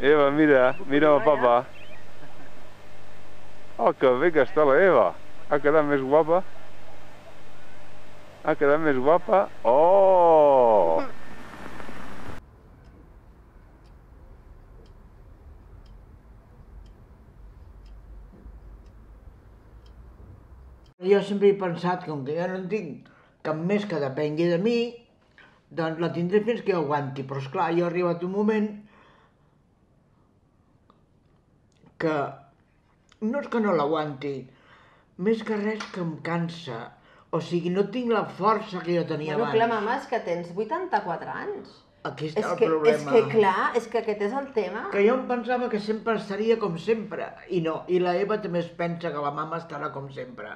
Eva, mira, mira el papa. Oh, que bé que està la Eva. Ha quedat més guapa. Ha quedat més guapa. Oh! Jo sempre he pensat que, com que jo no en tinc cap més que depengui de mi, doncs la tindré fins que jo aguanti. Però esclar, jo he arribat un moment que no és que no l'aguanti, més que res que em cansa. O sigui, no tinc la força que jo tenia Bueno, abans. clar, mama, és que tens 84 anys. Aquí està És el que, problema. clar, és que aquest és el tema. Que jo em pensava que sempre estaria com sempre, i no. I la Eva també es pensa que la mama estarà com sempre.